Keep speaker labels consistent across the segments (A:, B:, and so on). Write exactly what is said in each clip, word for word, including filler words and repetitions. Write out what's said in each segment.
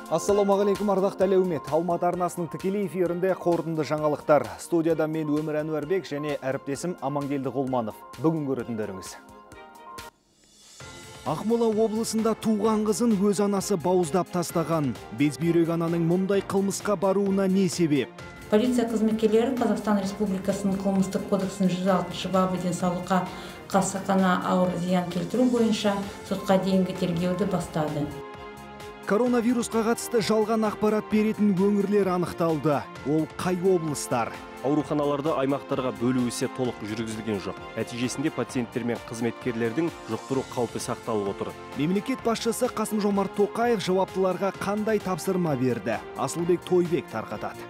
A: Ассалаумағалейкум ардақты әлеумет. Алматы арнасының тікелей эфирінде қорытынды жаңалықтар. Студияда мен Өмір Әнуарбек және әріптесім Амангелді Ғолманов. Бүгін көретіндеріңіз. Ақмола облысында туған қызын өз анасы бауыздап тастаған. Безбүйрек ананың мұндай қылмысқа баруына не себеп?
B: Полиция қызметкерлері Қазақстан Республикасының қылмыстық кодексінің жүз алтыншы бабы денсаулыққа қасақана ауыр зиян келтіру бойынша сотқа дейінгі тергеуді бастады.
A: Коронавирусқа қатысты жалған ақпарат беретін өңірлер анықталды. Ол қай облыстар?
C: Ауруханаларды аймақтарға бөлу ісі толық жүргізілген жоқ. Нәтижесінде пациенттер мен қызметкерлердің жұқтыру қаупі сақталып отыр.
A: Мемлекет басшысы Қасым-Жомарт Тоқаев жауаптыларға қандай тапсырма берді? Асылбек Тойбек тарқатады.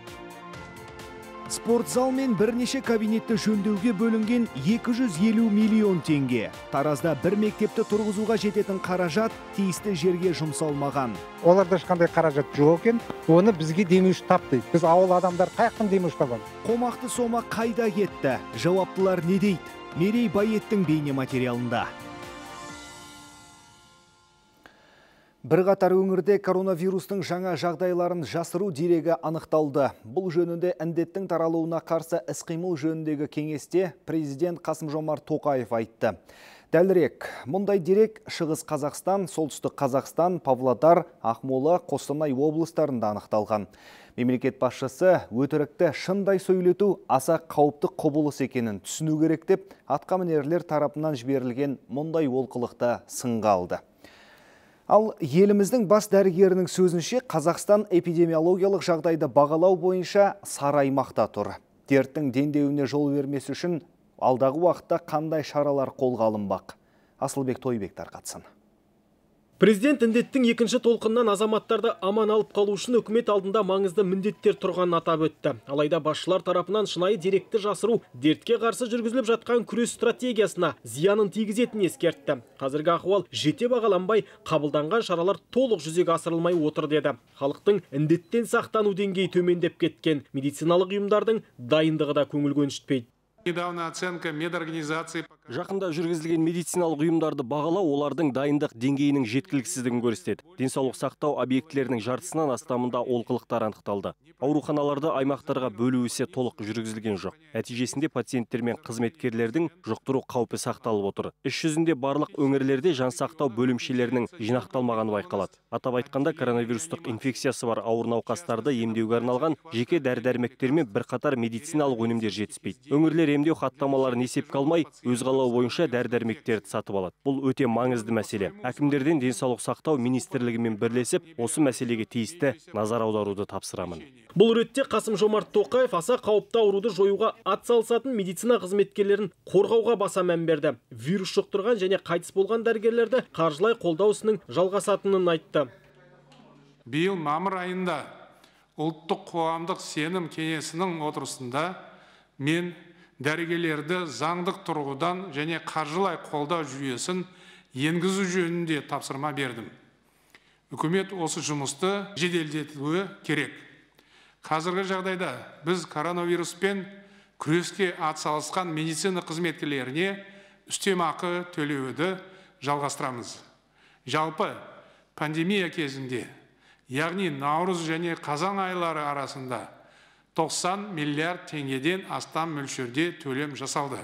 A: Спортзал мен бірнеше кабинетті жөндеуге бөлінген екі жүз елу миллион теңге. Таразда бір мектепті тұрғызуға жететін қаражат тиісті жерге жұмсалмаған.
D: Оларда ешқандай қаражат жоқ екен. Оны бізге демеуші тапты. Біз ауыл адамдар қаяқтан демеуші табамыз?
A: Қомақты сома қайда кетті? Жауаптылар не дейді? Мерей Байеттің бейне материалында. Бірқатар өңірде коронавирустың жаңа жағдайларын жасыру дерегі анықталды. Бұл жөнінде індеттің таралуына қарсы іс-қимыл жөніндегі кеңесте президент Қасым-Жомарт Тоқаев айтты. Дәлірек, мұндай дерек Шығыс Қазақстан, Солтүстік Қазақстан, Павлодар, Ақмола, Қостанай облыстарында анықталған. Мемлекет басшысы өтірікті шындай сөйлету аса қауіпті құбылыс екенін түсіну керек деп, атқамінерлер тарапынан жіберілген мұндай олқылықты сынға алды. Ал еліміздің бас дәрігерінің сөзінше Қазақстан эпидемиологиялық жағдайды бағалау бойынша сары аймақта тұр. Дерттің дендеуіне жол бермес үшін алдағы уақытта қандай шаралар қолға алынбақ? Асылбек Тойбек тарқатсын.
E: Президент індеттің екінші толқыннан азаматтарды аман алып қалу үшін үкімет алдында маңызды міндеттер тұрғанын атап өтті. Алайда басшылар тарапынан шынайы деректі жасыру дертке қарсы жүргізіліп жатқан күрес стратегиясына зиянын тигізетінін ескертті. Қазіргі ахуал жете бағаланбай, қабылданған шаралар толық жүзеге асырылмай отыр деді. Халықтың індеттен сақтану деңгейі төмендеп кеткен, медициналық ұйымдардың дайындығы да көңіл көншітпейді.
C: Жақында жүргізілген медициналық ұйымдарды бағалау олардың дайындық деңгейінің жеткіліксіздігін көрсетеді. Денсаулық сақтау объектілерінің жартысынан астамында олқылықтар анықталды. Ауруханаларды аймақтарға бөлу ісі толық жүргізілген жоқ. Нәтижесінде пациенттер мен қызметкерлердің жұқтыру қаупі сақталып отыр. Іс жүзінде барлық өңірлерде жан сақтау бөлімшелерінің жинақталмағаны байқалады. Атап айтқанда коронавирустық инфекциясы бар ауыр науқастарды емдеуге арналған жеке дәрі-дәрмектер мен бірқатар медициналық өнімдер жетіспейді. Өңірлер емдеу хаттамаларын есепке алмай, өз қалауы бойынша дәрі-дәрмектерді сатып алады. Бұл өте маңызды мәселе. Әкімдерден денсаулық сақтау министрлігімен бірлесіп, осы мәселеге тиісті назар аударуды тапсырамын.
E: Бұл ретте Қасым-Жомарт Тоқаев аса қауіпті ауруды жоюға атсалысатын медицина қызметкерлерін қорғауға баса мән берді. Вирус жұқтырған және қайтыс болған дәрігерлерді қаржылай қолдау ісінің жалғасатынын айтты.
F: Биыл мамыр айында ұлттық қоғамдық сенім кеңесінің отырысында мен дәрігерлерді заңдық тұрғыдан және қаржылай қолдау жүйесін енгізу жөнінде тапсырма бердім. Үкімет осы жұмысты жеделдетуі керек. Қазіргі жағдайда біз коронавируспен күреске атсалысқан медицина қызметкерлеріне үстемақы төлеуді жалғастырамыз. Жалпы пандемия кезінде, яғни наурыз және қазан айлары арасында тоқсан миллиард теңгеден астам мөлшерде төлем жасалды.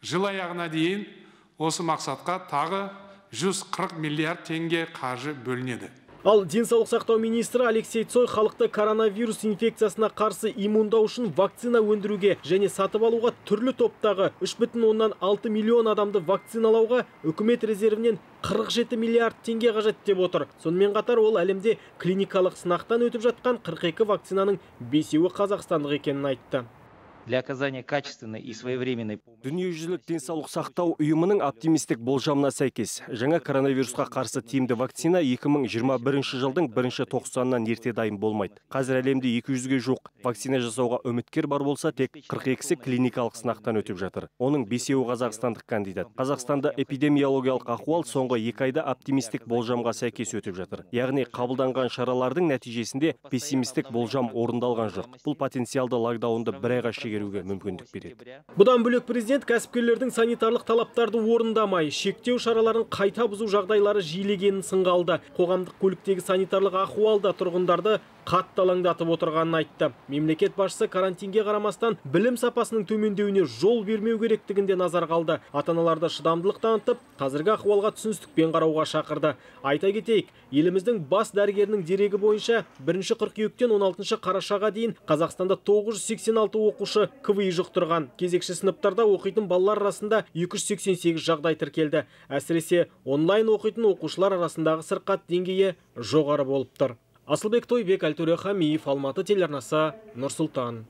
F: Жыл аяғына дейін осы мақсатқа тағы жүз қырық миллиард теңге қаржы бөлінеді.
E: Ал денсаулық сақтау министрі Алексей Цой халықты коронавирус инфекциясына қарсы иммундау үшін вакцина өндіруге және сатып алуға түрлі топтағы үш бүтін оннан алты миллион адамды вакциналауға үкімет резервінен қырық жеті миллиард теңге қажет деп отыр. Сонымен қатар ол әлемде клиникалық сынақтан өтіп жатқан қырық екі вакцинаның бесеуі қазақстандық екенін айтты.
G: Для оказания качественной и своевременной помощи.
C: Дүниежүзілік денсаулық сақтау ұйымының оптимистік болжамына сәйкес, жаңа коронавирусқа қарсы тиімді вакцина екі мың жиырма бірінші жылдың бірінші тоқсанынан ерте дайын болмайды. Қазір әлемде екі жүзге жуық вакцина жасауға үміткер бар болса, тек қырық екісі клиникалық сынақтан өтіп жатыр. Оның бесеуі қазақстандық кандидат. Қазақстанда эпидемиологиялық ахуал соңғы екі айда оптимистік болжамға сәйкес өтіп жатыр. Яғни қабылданған шаралардың нәтижесінде пессимистік болжам орындалған жоқ. Бұл потенциалды локдаунды бір айға шегеру беруге мүмкіндік береді.
E: Бұдан бөлек президент кәсіпкерлердің санитарлық талаптарды орындамай, шектеу шараларын қайта бұзу жағдайлары жиілегенін сынға алды. Қоғамдық көліктегі санитарлық ахуалда тұрғындарды қатты алаңдатып отырғанын айтты. Мемлекет басшысы карантинге қарамастан білім сапасының төмендеуіне жол бермеу керектігінде назар қалды. Ата-аналарды шыдамдылық танытып, қазіргі ахуалға түсіністікпен қарауға шақырды. Айта кетейік, еліміздің бас дәрігерінің дерегі бойынша бірінші қыркүйектен он алтыншы қарашаға дейін Қазақстанда тоғыз жүз сексен алты оқушы КВИ жұқтырған. Кезекші сыныптарда оқитын балалар арасында екі жүз сексен сегіз жағдай тіркелді. Әсіресе онлайн оқитын оқушылар арасындағы сырқат деңгейі жоғары болып тұр. Асылбек Тойбек, Әлтөре Хамиев, Алматы телеарнасы, Нұр-Сұлтан.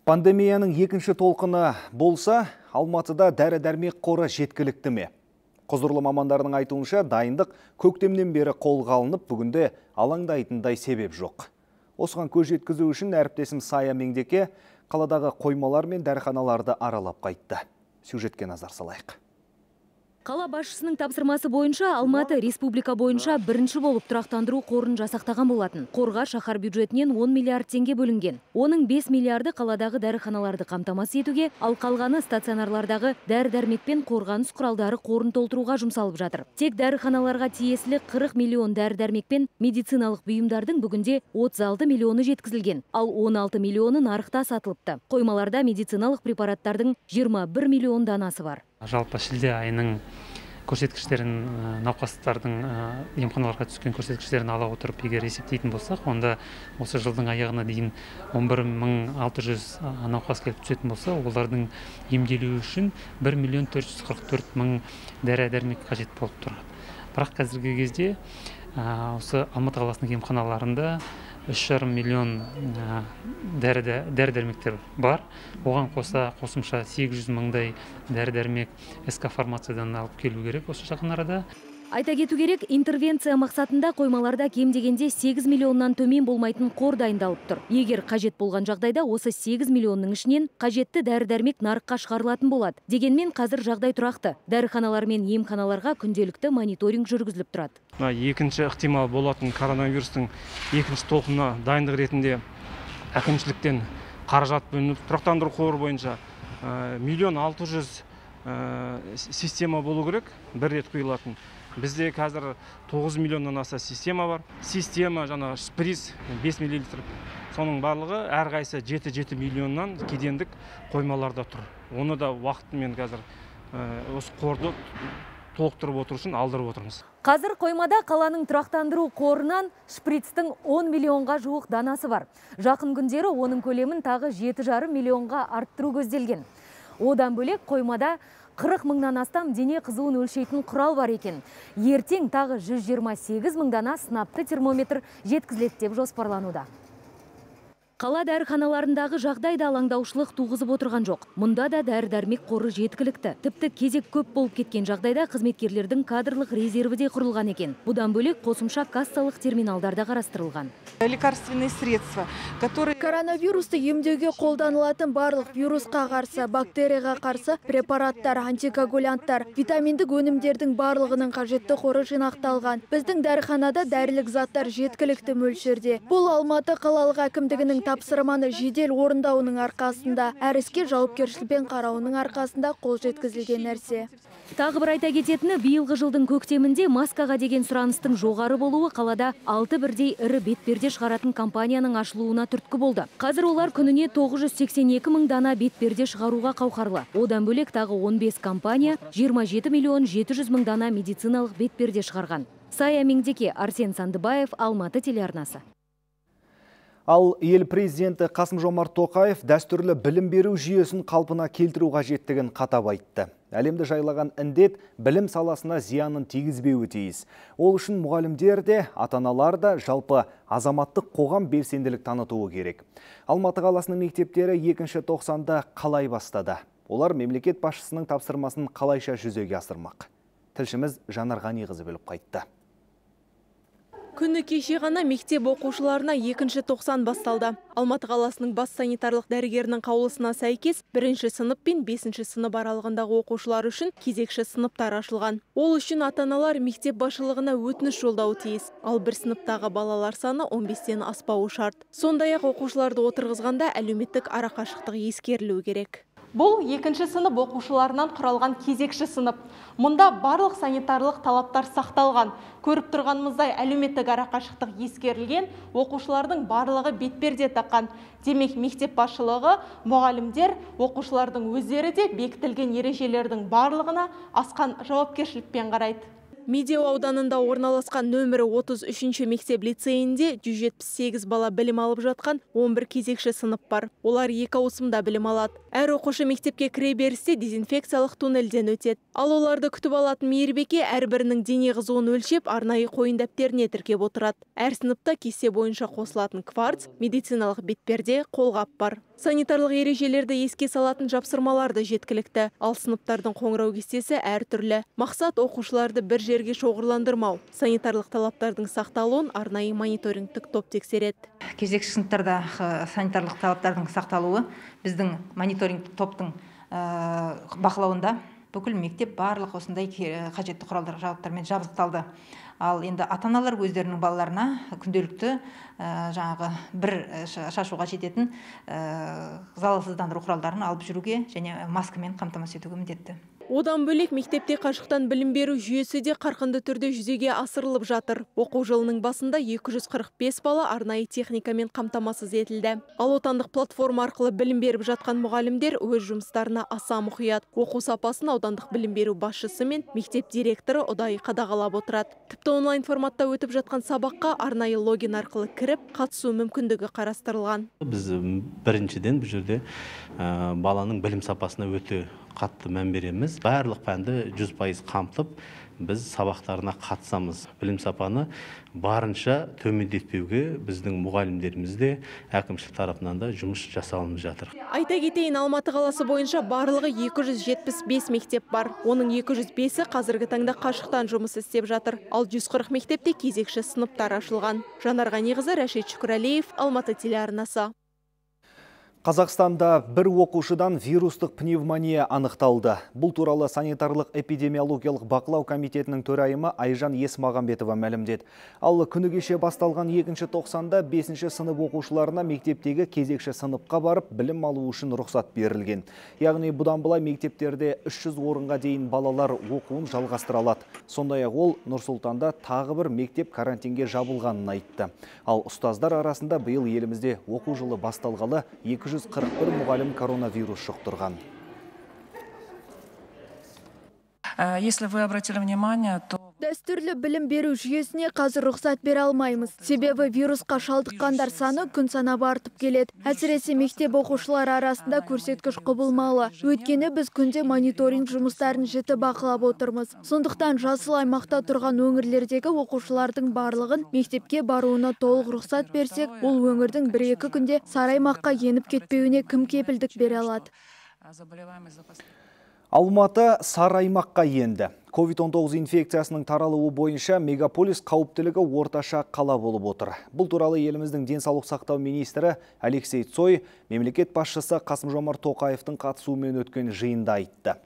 A: Пандемияның екінші толқыны болса, Алматыда дәрі-дәрмек қоры жеткілікті ме? Құзырлы мамандардың айтуынша, дайындық көктемнен бері қолға алынып, бүгінде алаңдайтындай себеп жоқ. Осыған көз жеткізу үшін әріптесім Сая Меңдеке қаладағы қоймалар мен дәріханаларды аралап қайтты. Сюжетке назар салайық.
H: Қала басшысының тапсырмасы бойынша Алматы республика бойынша бірінші болып тұрақтандыру қорын жасақтаған болатын. Қорға шаһар бюджетінен он миллиард теңге бөлінген. Оның бес миллиарды қаладағы дәріханаларды қамтамасыз етуге, ал қалғаны стационарлардағы дәрі-дәрмек пен қорғаныс құралдары қорын толтыруға жұмсалып жатыр. Тек дәріханаларға тиесілі қырық миллион дәрі-дәрмек пен медициналық бұйымдардың бүгінде отыз алты миллионы жеткізілген, ал он алты миллионы нарықта сатылыпты. Қоймаларда медициналық препараттардың жиырма бір миллион данасы бар.
I: Жалпы шілде айының көрсеткіштерін, науқастардың емханаларға түскен көрсеткіштерін ала отырып, егер есептейтін болсақ, онда осы жылдың аяғына дейін он бір мың алты жүз науқас келіп түсетін болса, олардың емделуі үшін бір миллион төрт жүз қырық төрт мың дәрі-дәрмек қажет болып тұрады. Бірақ қазіргі кезде осы Алматы қаласының емханаларында үш жарым миллион дәрі-дәрмектер бар. Оған қоса қосымша сегіз жүз мыңдай дәрі-дәрмек СК фармациядан алып келу керек осы жақын арада.
H: Айта кету керек, интервенция мақсатында қоймаларда кем дегенде сегіз миллионнан төмен болмайтын қор дайындалып тұр. Егер қажет болған жағдайда осы сегіз миллионның ішінен қажетті дәрі-дәрмек нарыққа шығарылатын болады. Дегенмен қазір жағдай тұрақты. Дәріханалар мен емханаларға күнделікті мониторинг жүргізіліп тұрады.
C: Екінші ықтимал болатын коронавирустың екінші толқынына дайындық ретінде әкімшіліктен қаражат бөлініп, тұрақтандыру қоры бойынша миллион алты жүз система болу керек, бір рет құйылатын. Бізде қазір тоғыз миллионнан аса система бар. Система жаңа шприц бес миллилитр. Соның барлығы әрқайсысы жеті жеті миллионнан кедендік қоймаларда тұр. Оны да уақытымен қазір осы қорды толықтырып отыру үшін алдырып отырмыз.
H: Қазір қоймада қаланың тұрақтандыру қорынан шприцтің он миллионға жуық данасы бар. Жақын күндері оның көлемін тағы жеті жарым миллионға арттыру көзделген. Одан бөлек қоймада қырық мыңнан астам дене қызуын өлшейтін құрал бар екен. Ертең тағы жүз жиырма сегіз мың дана сынапты термометр жеткізіледі деп жоспарлануда. Қала дәріханаларындағы жағдай да алаңдаушылық туғызып отырған жоқ. Мұнда да дәрі-дәрмек қоры жеткілікті. Тіпті кезек көп болып кеткен жағдайда қызметкерлердің кадрлық резерві де құрылған екен. Бұдан бөлек қосымша кассалық терминалдарда қарастырылған.
J: Лекарственные средства, которые
K: коронавирусты емдеуге қолданылатын барлық вирусқа қарсы, бактерияға қарсы препараттар, антикоагулянттар, витаминдік өнімдердің барлығының қажетті қоры жинақталған. Біздің дәріханада дәрілік заттар жеткілікті мөлшерде. Бұл Алматы қалалық әкімдігінің тапсырманы жедел орындауының арқасында, әр іске жауапкершілікпен қарауының арқасында қол жеткізілген нәрсе.
H: Тағы бір айта кететіні, биылғы жылдың көктемінде маскаға деген сұраныстың жоғары болуы қалада алты бірдей ірі бетперде шығаратын компанияның ашылуына түрткі болды. Қазір олар күніне тоғыз жүз сексен екі мың дана бетперде шығаруға қауқарлы. Одан бөлек тағы он бес компания жиырма жеті миллион жеті жүз мың дана медициналық бетперде шығарған. Сая Меңдеке, Арсен Сандыбаев, Алматы телеарнасы.
A: Ал ел президенті Қасым-Жомарт Тоқаев дәстүрлі білім беру жүйесін қалпына келтіру қажеттігін қатап айтты. Әлемді жайлаған індет білім саласына зиянын тигізбеуі тиіс. Ол үшін мұғалімдер де, ата-аналар да жалпы азаматтық қоғам белсенділік танытуы керек. Алматы қаласының мектептері екінші тоқсанда қалай бастады? Олар мемлекет басшысының тапсырмасын қалайша жүзеге асырмақ? Тілшіміз Жанар Ғаниқызы біліп қайтты.
L: Күні кеше ғана мектеп оқушыларына екінші тоқсан басталды. Алматы қаласының бас санитарлық дәрігерінің қаулысына сәйкес бірінші сынып пен бесінші сынып аралығындағы оқушылар үшін кезекші сыныптар ашылған. Ол үшін ата-аналар мектеп басшылығына өтініш жолдауы тиіс. Ал бір сыныптағы балалар саны он бестен аспауы шарт. Сондай-ақ оқушыларды отырғызғанда әлеуметтік арақашықтық ескерілуі керек. Бұл екінші сынып оқушыларынан құралған кезекші сынып. Мұнда барлық санитарлық талаптар сақталған. Көріп тұрғанымыздай әлеуметтік арақашықтық ескерілген, оқушылардың барлығы бетперде таққан. Демек, мектеп басшылығы, мұғалімдер, оқушылардың өздері де бекітілген ережелердің барлығына асқан жауапкершілікпен қарайды. Медеу ауданында орналасқан нөмірі отыз үшінші мектеп лицейінде жүз жетпіс сегіз бала білім алып жатқан он бір кезекші сынып бар. Олар екі ауысымда білім алады. Әр оқушы мектепке кіре берісте дезинфекциялық туннельден өтеді. Ал оларды күтіп алатын мейірбике әрбірінің дене қызуын өлшеп, арнайы қойын дәптеріне тіркеп отырады. Әр сыныпта кесте бойынша қосылатын кварц, медициналық бетперде, қолғап бар. Санитарлық ережелерді еске салатын жапсырмаларды жеткілікті, ал сыныптардың қоңырау кестесі әртүрлі. Мақсат оқушыларды бір жерге шоғырландырмау. Санитарлық талаптардың сақталуын арнайы мониторингтік топ тексереді.
M: Кезекші сыныптарда санитарлық талаптардың сақталуы біздің мониторингтік топтың бақылауында. Бүкіл мектеп барлық осындай қажетті құралдар жабдықтармен жабдықталды. Ал енді ата-аналар өздерінің балаларына күнделікті жаңағы бір шашуға жететін залалсыздандыру құралдарын алып жүруге және маскамен қамтамасыз етуге міндетті.
L: Одан бөлек мектепте қашықтан білім беру жүйесі де қарқынды түрде жүзеге асырылып жатыр. Оқу жылының басында екі жүз қырық бес бала арнайы техникамен қамтамасыз етілді. Ал отандық платформа арқылы білім беріп жатқан мұғалімдер өз жұмыстарына аса мұқият. Оқу сапасын аудандық білім беру басшысы мен мектеп директоры ұдайы қадағалап отырады. Тіпті онлайн форматта өтіп жатқан сабаққа арнайы логин арқылы кіріп, қатысу мүмкіндігі қарастырылған.
N: Біз біріншіден бұл жерде баланың білім сапасына өте қатты мән береміз. Барлық пәнді жүз пайыз қамтып, біз сабақтарына қатысамыз. Білім сапаны барынша төмендетпеуге біздің мұғалімдерімізде әкімшілік тарапынан да жұмыс жасалынып жатыр.
L: Айта кетейін, Алматы қаласы бойынша барлығы екі жүз жетпіс бес мектеп бар. Оның екі жүз бесі қазіргі таңда қашықтан жұмыс істеп жатыр. Ал жүз қырық мектепте кезекші сыныптар ашылған. Жанар Ғаниқызы, Рашид Шүкірәлиев, Алматы телеарнасы.
A: Қазақстанда бір оқушыдан вирустық пневмония анықталды. Бұл туралы санитарлық эпидемиологиялық бақылау комитетінің төрайымы Айжан Есмағамбетова мәлімдеді. Ал күні кеше басталған екінші тоқсанда бесінші сынып оқушыларына мектептегі кезекші сыныпқа барып білім алу үшін рұқсат берілген. Яғни бұдан былай мектептерде үш жүз орынға дейін балалар оқуын жалғастыра алады. Сондай-ақ ол Нұр-Сұлтанда тағы бір мектеп карантинге жабылғанын айтты. Ал ұстаздар арасында биыл елімізде оқу жылы басталғалы екі жүз қырық бір мұғалім коронавирус жұқтырған.
O: Если вы обратили внимание, то
K: Дәстүрлі білім беру жүйесіне қазір рұқсат бере алмаймыз. Себебі вирусқа шалдыққандар саны күн санап артып келеді. Әсіресе мектеп оқушылары арасында көрсеткіш құбылмалы. Өйткені біз күнде мониторинг жұмыстарын жіті бақылап отырмыз. Сондықтан жасыл аймақта тұрған өңірлердегі оқушылардың барлығын мектепке баруына толық рұқсат берсек, ол өңірдің бір-екі күнде сары аймаққа еніп кетпеуіне кім кепілдік бере алады?
A: Алматы сары аймаққа енді. ковид он тоғыз инфекциясының таралуы бойынша мегаполис қауіптілігі орташа қала болып отыр. Бұл туралы еліміздің денсаулық сақтау министрі Алексей Цой мемлекет басшысы Қасым-Жомарт Тоқаевтың қатысуымен өткен жиында айтты.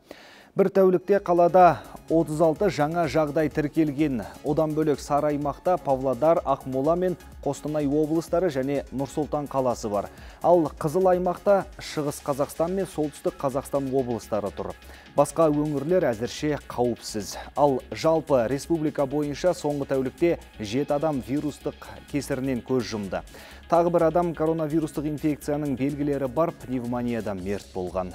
A: Бір тәулікте қалада отыз алты жаңа жағдай тіркелген. Одан бөлек сары аймақта Павлодар, Ақмола мен Қостанай облыстары және Нұр-Сұлтан қаласы бар. Ал қызыл аймақта Шығыс Қазақстан мен Солтүстік Қазақстан облыстары тұр. Басқа өңірлер әзірше қауіпсіз. Ал жалпы республика бойынша соңғы тәулікте жеті адам вирустық кесірінен көз жұмды. Тағы бір адам коронавирустық инфекцияның белгілері бар пневмониядан мерт болған.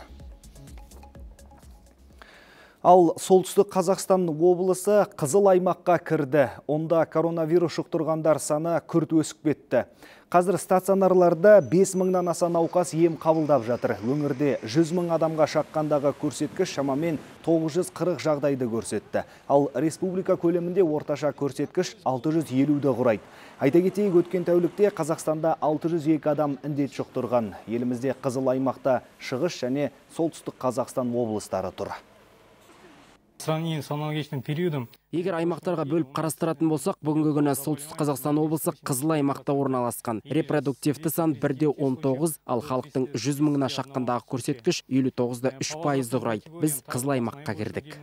A: Ал Солтүстік Қазақстан облысы қызыл аймаққа кірді. Онда коронавирус жұқтырғандар саны күрт өсіп кетті. Қазір стационарларда бес мыңнан аса науқас ем қабылдап жатыр. Өңірде жүз мың адамға шаққандағы көрсеткіш шамамен тоғыз жүз қырық жағдайды көрсетті. Ал республика көлемінде орташа көрсеткіш алты жүз елуді құрайды. Айта кетейік, өткен тәулікте Қазақстанда алты жүз екі адам індет жұқтырған. Елімізде қызыл аймақта Шығыс және Солтүстік Қазақстан облыстары тұр.
P: сравнению с аналогичным периодом.
Q: Егер аймақтарға бөліп қарастыратын болсақ, бүгінгі күні Солтүстік Қазақстан облысы қызыл аймақта орналасқан. Репродуктивті сан бірде он тоғыз, ал халықтың жүз мыңына шаққандағы көрсеткіш елу тоғыз да үш пайызды құрайды. Біз қызыл аймаққа кірдік.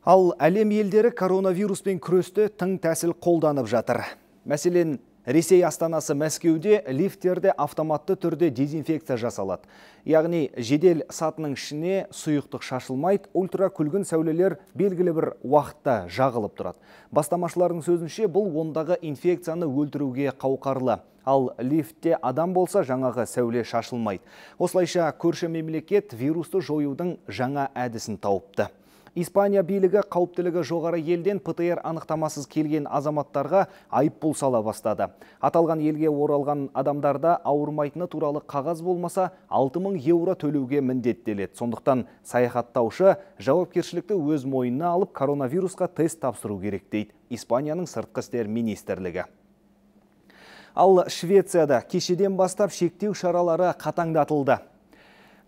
A: Ал әлем елдері коронавируспен күресті тың тәсіл қолданып жатыр. Мәселен, Ресей астанасы Мәскеуде лифттерде автоматты түрде дезинфекция жасалады. Яғни жедел сатының ішіне сұйықтық шашылмайды, ультра күлгін сәулелер белгілі бір уақытта жағылып тұрады. Бастамашылардың сөзінше бұл ондағы инфекцияны өлтіруге қауқарлы. Ал лифтте адам болса жаңағы сәуле шашылмайды. Осылайша көрші мемлекет вирусты жоюдың жаңа әдісін тауыпты. Испания билігі қауіптілігі жоғары елден ПТР анықтамасыз келген азаматтарға айыппұл сала бастады. Аталған елге оралған адамдарда ауырмайтыны туралы қағаз болмаса алты мың еуро төлеуге міндеттеледі. Сондықтан саяхаттаушы жауапкершілікті өз мойнына алып коронавирусқа тест тапсыру керек дейді Испанияның сыртқы істер министрлігі. Ал Швецияда кешеден бастап шектеу шаралары қатаңдатылды.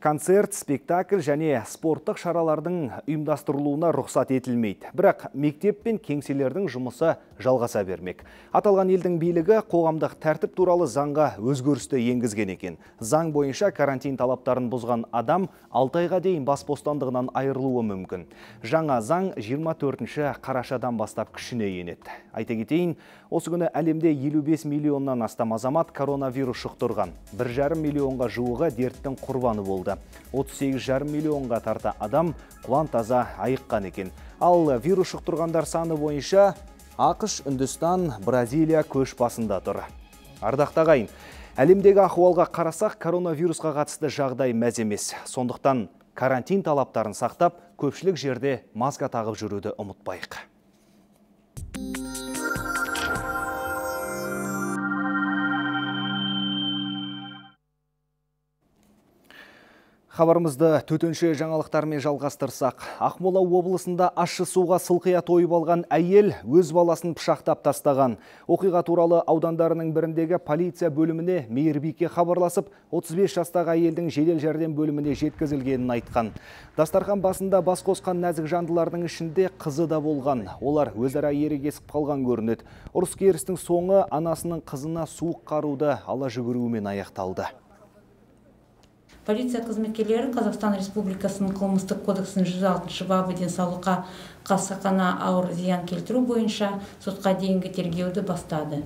A: Концерт, спектакль және спорттық шаралардың ұйымдастырылуына рұқсат етілмейді. Бірақ мектеп пен кеңселердің жұмысы жалғаса бермек. Аталған елдің билігі қоғамдық тәртіп туралы заңға өзгерісті енгізген екен. Заң бойынша карантин талаптарын бұзған адам алты айға дейін бас бостандығынан айырылуы мүмкін. Жаңа заң жиырма төртінші қарашадан бастап күшіне енеді. Айта кетейін, осы күні әлемде елу бес миллионнан астам азамат коронавирус жұқтырған. бір жарым миллионға жуығы дерттің құрбаны болды. отыз сегіз жарым миллионға тарта адам құлан таза айыққан екен. Ал вирус жұқтырғандар саны бойынша ақш, Үндістан, Бразилия көш басында тұр. Ардақта ағайын, әлемдегі ахуалға қарасақ, коронавирусқа қатысты жағдай мәз емес. Сондықтан карантин талаптарын сақтап, көпшілік жерде маска тағып жүруді ұмытпайық. Хабарымызды төтенше жаңалықтармен жалғастырсақ, Ақмола облысында ащы суға сылқия тойып алған әйел өз баласын пышақтап тастаған. Оқиға туралы аудандарының біріндегі полиция бөліміне мейірбике хабарласып, отыз бес жастағы әйелдің жедел жәрдем бөліміне жеткізілгенін айтқан. Дастархан басында бас қосқан нәзік жандылардың ішінде қызы да болған. Олар өзара ерегесіп қалған көрінеді. Ұрыс керістің соңы анасының қызына суық қаруды ала жүгіруімен аяқталды.
B: Полиция қызметкерлері Қазақстан Республикасының қылмыстық кодексінің жүз алтыншы бабы денсаулыққа қасақана ауыр зиян келтіру бойынша сотқа дейінгі тергеуді бастады.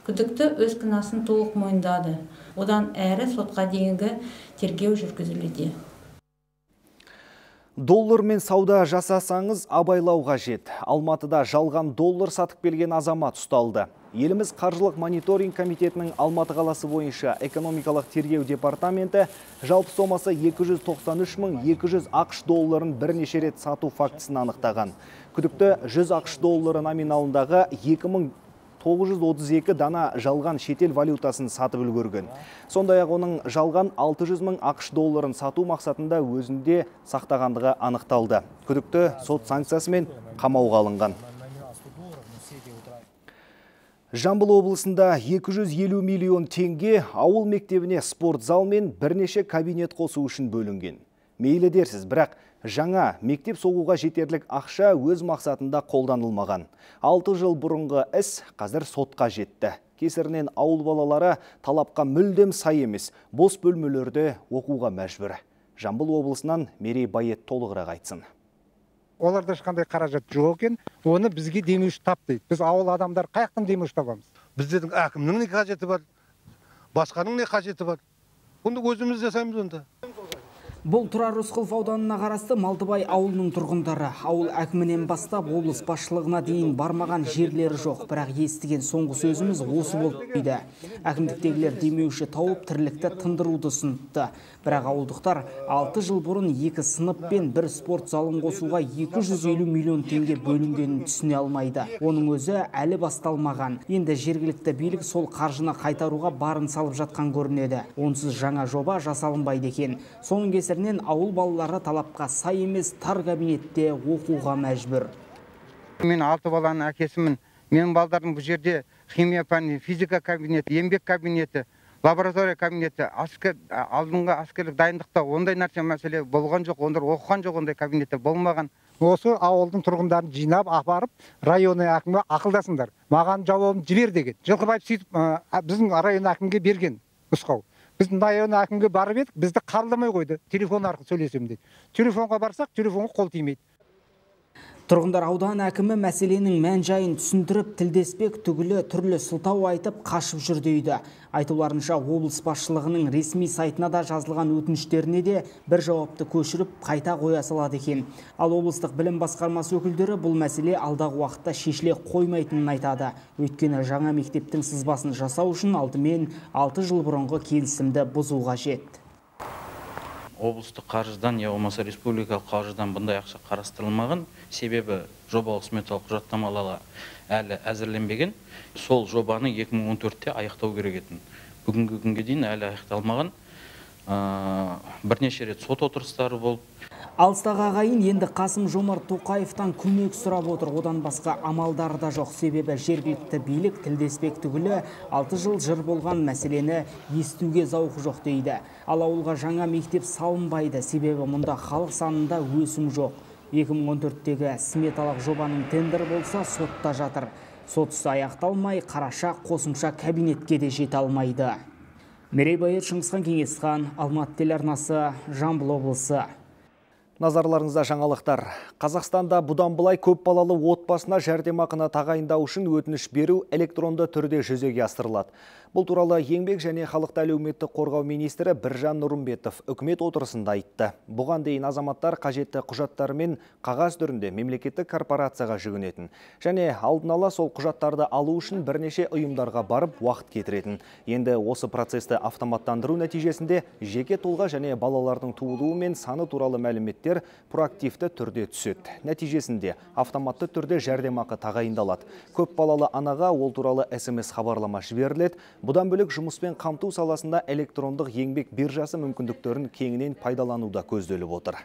B: Күдікті өз кінәсін толық мойындады. Одан әрі сотқа дейінгі тергеу жүргізілуде.
A: Доллармен сауда жасасаңыз абайлау қажет. Алматыда жалған доллар сатып келген азамат ұсталды. Еліміз қаржылық мониторинг комитетінің Алматы қаласы бойынша экономикалық тергеу департаменті жалпы сомасы екі жүз тоқсан үш мың екі жүз ақш долларын бірнеше рет сату фактісін анықтаған. Күдікті жүз ақш доллары номиналындағы екі мың тоғыз жүз отыз екі дана жалған шетел валютасын сатып үлгерген. Сондай-ақ оның жалған алты жүз мың ақш долларын сату мақсатында өзінде сақтағандығы анықталды. Күдікті сот санкциясымен қамауға алынған. Жамбыл облысында екі жүз елу миллион теңге ауыл мектебіне спорт зал мен бірнеше кабинет қосу үшін бөлінген. Мейлі дерсіз, бірақ жаңа мектеп соғуға жетерлік ақша өз мақсатында қолданылмаған. алты жыл бұрынғы іс қазір сотқа жетті. Кесірінен ауыл балалары талапқа мүлдем сай емес, бос бөлмелерде оқуға мәжбүр. Жамбыл облысынан Мерей Байет толығырақ айтсын.
D: Оларда ешқандай қаражат жоқ екен, оны бізге демеуші тап дейді. Біз ауыл адамдар қаяқтан демеуші табамыз?
R: Біздердің әкімнің не қажеті бар, басқаның не қажеті бар? Бұнды өзіміз жасаймыз онда.
S: Бұл Тұрар Рысқұлов ауданына қарасты Малтыбай ауылының тұрғындары. Ауыл әкімінен бастап облыс басшылығына дейін бармаған жерлері жоқ. Бірақ естіген соңғы сөзіміз осы болып дейді. Әкімдіктегілер демеуші тауып тірлікті тындыруды ұсыныпты. Бірақ ауылдықтар алты жыл бұрын екі сынып пен бір спорт залын қосуға екі жүз елу миллион теңге бөлінгенін түсіне алмайды. Оның өзі әлі басталмаған. Енді жергілікті билік сол қаржыны қайтаруға барын салып жатқан көрінеді. Онсыз жаңа жоба жасалынбайды екен. Соның кесірінен ауыл балалары талапқа сай емес тар кабинетте оқуға мәжбүр.
D: Мен алты баланың әкесімін. Менің балдардың бұл жерде химия пәні, физика кабинеті, еңбек кабинеті, лаборатория кабинеті, аскер, алдыңғы аскерлік дайындықта ондай нәрсе мәселе болған жоқ, ондар оқыған жоқ, ондай кабинеттер болмаған.
R: осы ауылдың тұрғындарын жинап апарып район әкімі ақылдасыңдар. Маған жауабын жібер деген. Жылқыбаев сөйтіп біздің район әкімге берген нұсқау. Біз район әкімге барып едік, бізді қабылдамай қойды. Телефон арқылы сөйлесем дейді. Телефонға барсақ, телефонға қол тимейді.
S: Тұрғындар аудан әкімі мәселенің мән жайын түсіндіріп, тілдеспек түгілі түрлі сылтау айтып қашып жүр дейді. Айтуларынша облыс басшылығының ресми сайтына да жазылған өтініштеріне де бір жауапты көшіріп қайта қоя салады екен. Ал облыстық білім басқармасы өкілдері бұл мәселе алдағы уақытта шешіле қоймайтынын айтады. Өйткені жаңа мектептің сызбасын жасау үшін алдымен алты жыл бұрынғы келісімді бұзу қажет.
G: Облыстық қаржыдан, я болмаса республикалық қаржыдан бұндай ақша қарастырылмаған, себебі жобалық сметалық құжаттамалары әлі әзірленбеген. Сол жобаны екі мың он төртте аяқтау керек етін. Бүгінгі күнге дейін әлі аяқталмаған. Бірнеше рет сот отырыстары болып.
S: Алыстағы ағайын енді Қасым-Жомарт Тоқаевтан көмек сұрап отыр. Одан басқа амалдары да жоқ, себебі жергілікті билік тілдеспек түгілі алты жыл жыр болған мәселені естуге зауқы жоқ дейді. Ал ауылға жаңа мектеп салынбайды, себебі мұнда халық санында өсім жоқ. екі мың он төрттегі сметалық жобаның тендер болса сотта жатыр. Сотысы аяқталмай, қараша қосымша кабинетке де жете алмайды. Мерей Байыр, Шыңғысхан Кеңесхан, Алматы телеарнасы, Жамбыл облысы.
A: Назарларыңызда жаңалықтар. Қазақстанда бұдан былай көп балалы отбасына жәрдемақыны тағайындау үшін өтініш беру электронды түрде жүзеге асырылады. Бұл туралы еңбек және халықты әлеуметтік қорғау министрі Біржан Нұрымбетов үкімет отырысында айтты. Бұған дейін азаматтар қажетті құжаттарымен қағаз түрінде мемлекеттік корпорацияға жүгінетін. Және алдын ала сол құжаттарды алу үшін бірнеше ұйымдарға барып уақыт кетіретін. Енді осы процесті автоматтандыру нәтижесінде жеке тұлға және балалардың туылуы мен саны туралы мәліметтер проактивті түрде түседі. Нәтижесінде автоматты түрде жәрдемақы тағайындалады. Көп балалы анаға ол туралы эс эм эс хабарлама жіберіледі. Бұдан бөлек жұмыспен қамту саласында электрондық еңбек биржасы мүмкіндіктерін кеңінен пайдалануда көзделіп отыр.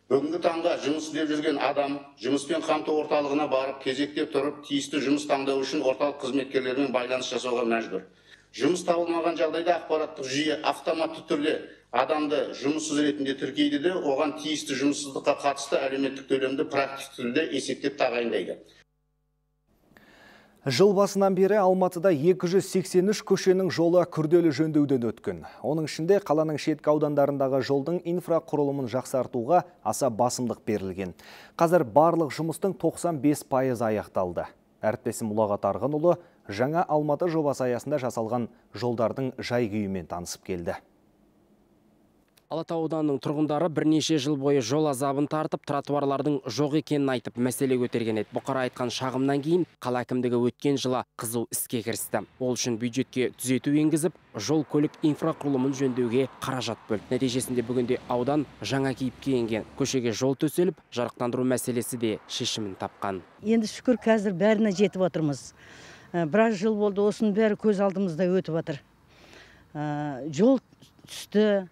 T: Бүгінгі таңда жұмыс істеп жүрген адам жұмыспен қамту орталығына барып, кезекте тұрып, тиісті жұмыс таңдау үшін орталық қызметкерлерімен байланыс жасауға мәжбүр. Жұмыс табылмаған жағдайда ақпараттық жүйе автоматты түрде адамды жұмыссыз ретінде тіркейді де, оған тиісті жұмыссыздыққа қатысты әлеуметтік төлемді практик түрде есептеп тағайындайды.
A: Жыл басынан бері Алматыда екі жүз сексен үш көшенің жолы күрделі жөндеуден өткен. Оның ішінде қаланың шеткі аудандарындағы жолдың инфрақұрылымын жақсартуға аса басымдық берілген. Қазір барлық жұмыстың тоқсан бес пайызы аяқталды. Әріптесім Ұлағат Арғынұлы жаңа Алматы жобасы аясында жасалған жолдардың жай-күйімен танысып келді.
Q: Алатау ауданының тұрғындары бірнеше жыл бойы жол азабын тартып, тротуарлардың жоқ екенін айтып, мәселе көтерген еді. Бұқара айтқан шағымнан кейін қала әкімдігі өткен жылы қызу іске кірісті. Ол үшін бюджетке түзету енгізіп, жол көлік инфрақұрылымын жөндеуге қаражат бөлді. Нәтижесінде бүгінде аудан жаңа кейіпке енген. Көшеге жол төселіп, жарықтандыру мәселесі де шешімін тапқан.
U: Енді шүкір қазір бәріне жетіп отырмыз. Біраз жыл болды, осының бәрі көз алдымызда өтіп отыр. Жол түсті.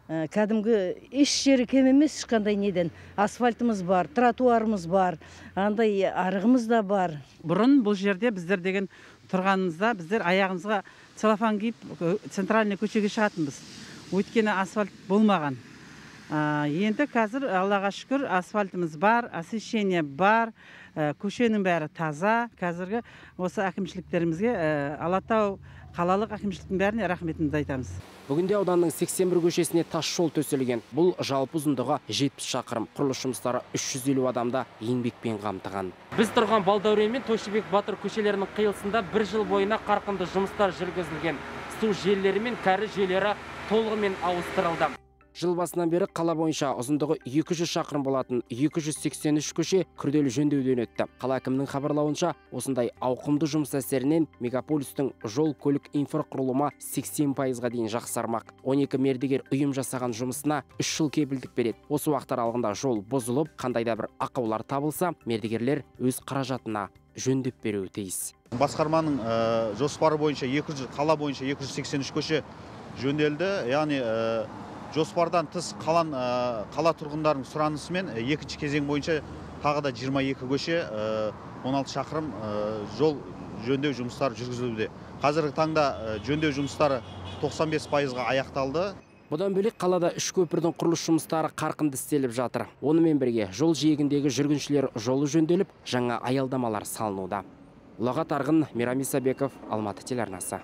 U: Кәдімгі еш жері кем емес, ешқандай неден. Асфальтымыз бар, тротуарымыз бар, андай арығымыз да бар.
V: Бұрын бұл жерде біздер деген тұрғанымызда, біздер аяғымызға целлофан киіп центральный көшеге шығатынбыз. Өйткені асфальт болмаған. Енді қазір, Аллаға шүкір, асфальтымыз бар, освещение бар, көшенің бәрі таза. Қазіргі осы әкімшіліктерімізге Алатау қалалық әкімшіліктің бәріне рахметімізді айтамыз.
Q: Бүгінде ауданның сексен бір көшесіне тас жол төселген. Бұл жалпы ұзындығы жетпіс шақырым. Құрылыс жұмыстары үш жүз елу адамда еңбекпен қамтыған. Біз тұрған Балдәурен мен Тойшыбек Батыр көшелерінің қиылысында бір жыл бойына қарқынды жұмыстар жүргізілген. Су желілері мен кәріз жүйелері толығымен ауыстырылды. Жыл басынан бері қала бойынша ұзындығы екі жүз шақырым болатын екі жүз сексен үш көше күрделі жөндеуден өтті. Қала әкімінің хабарлауынша, осындай ауқымды жұмыс әсерінен мегаполистің жол көлік инфрақұрылымы сексен пайызға дейін жақсармақ. он екі мердігер ұйым жасаған жұмысына үш жыл кепілдік береді. Осы уақыт аралығында жол бұзылып, қандай да бір ақаулар табылса, мердігерлер өз қаражатына жөндеп беруі тиіс.
W: Басқарманың жоспары бойынша қала бойынша екі жүз сексен үш көше жөнделді. Яғни жоспардан тыс қалан қала тұрғындарының сұранысымен екінші кезең бойынша тағы да жиырма екі көше он алты шақырым жол жөндеу жұмыстары жүргізілуде. Қазіргі таңда жөндеу жұмыстары тоқсан бес пайызға аяқталды.
Q: Бұдан бөлек қалада үш көпірдің құрылыс жұмыстары қарқынды істеліп жатыр. Онымен бірге жол жиегіндегі жүргіншілер жолы жөнделіп, жаңа аялдамалар салынуда. Ұлағат Арғын, Мейрам Исабеков, Алматы телеарнасы.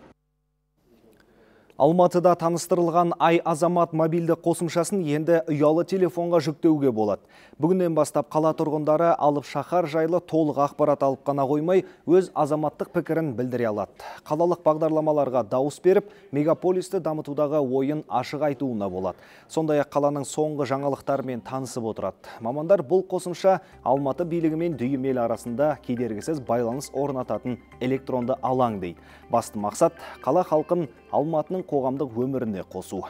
A: Алматыда таныстырылған Ай Азамат мобильді қосымшасын енді ұялы телефонға жүктеуге болады. Бүгіннен бастап қала тұрғындары алып шаһар жайлы толық ақпарат алып қана қоймай, өз азаматтық пікірін білдіре алады. Қалалық бағдарламаларға дауыс беріп, мегаполисті дамытудағы ойын ашық айтуына болады. Сондай-ақ қаланың соңғы жаңалықтарымен танысып отырады. Мамандар бұл қосымша Алматы билігі мен дүйім ел арасында кедергісіз байланыс орнататын электронды алаң дейді. Басты мақсат қала халқын Алматының қоғамдық өміріне қосу.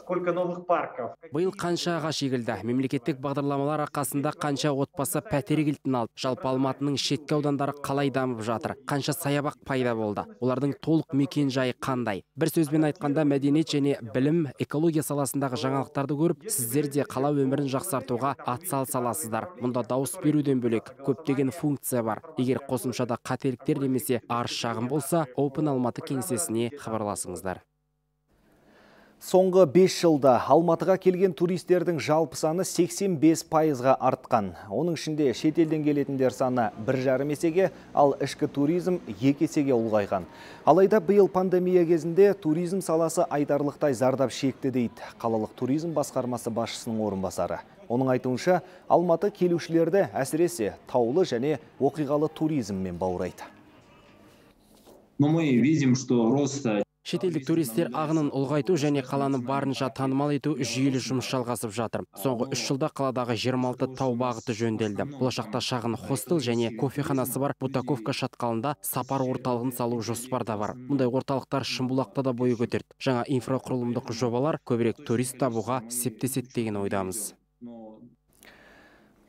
E: Сколько новых парков?
Q: Биыл қанша ағаш егілді. Мемлекеттік бағдарламалар арқасында қанша отбасы пәтер кілтін алды. Жалпы Алматының шеткі аудандары қалай дамып жатыр? Қанша саябақ пайда болды? Олардың толық мекен жайы қандай? Бір сөзбен айтқанда, мәдениет және білім, экология саласындағы жаңалықтарды көріп, сіздер де қала өмірін жақсартуға атсалысасыздар. Мұнда дауыс беруден бөлек көптеген функция бар. Егер қосымшада қателіктер немесе арыз шағым болса, Open Алматы кеңсесіне хабарласыңыздар.
A: Соңғы бес жылда Алматыға келген туристердің жалпы саны сексен бес пайызға артқан. Оның ішінде шетелден келетіндер саны бір жарым есеге, ал ішкі туризм екі есеге ұлғайған. Алайда биыл пандемия кезінде туризм саласы айтарлықтай зардап шекті дейді қалалық туризм басқармасы басшысының орынбасары. Оның айтуынша, Алматы келушілерді әсіресе таулы және оқиғалы туризммен баурайды.
E: Но мы видим, что рост
Q: Шетелдік туристер ағынын ұлғайту және қаланы барынша танымал ету жүйелі жұмыс жалғасып жатыр. Соңғы үш жылда қаладағы жиырма алты тау бағыты жөнделді. Болашақта шағын хостел және кофеханасы бар Бутаковка шатқалында сапар орталығын салу жоспарда бар. Мұндай орталықтар Шымбұлақта да бой көтерді. Жаңа инфрақұрылымдық жобалар көбірек турист табуға септеседі деген ойдамыз.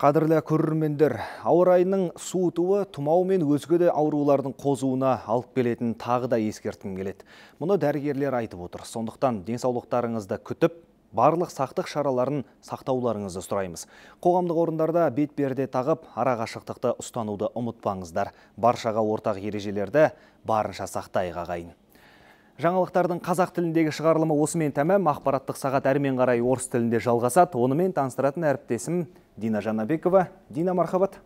A: Қадірлі көрермендер, ауа райының суытуы тұмау мен өзге де аурулардың қозуына алып келетін тағы да ескерткім келеді. Мұны дәрігерлер айтып отыр. Сондықтан денсаулықтарыңызды күтіп, барлық сақтық шараларын сақтауларыңызды сұраймыз. Қоғамдық орындарда бетперде тағып, арақашықтықты ұстануды ұмытпаңыздар. Баршаға ортақ ережелерді барынша сақтайық ағайын. Жаңалықтардың қазақ тіліндегі шығарылымы осымен тәмам. Ақпараттық сағат әрмен қарай орыс тілінде жалғасады. Онымен таныстыратын әріптесім Дина Жанабекова. Дина, мархабат.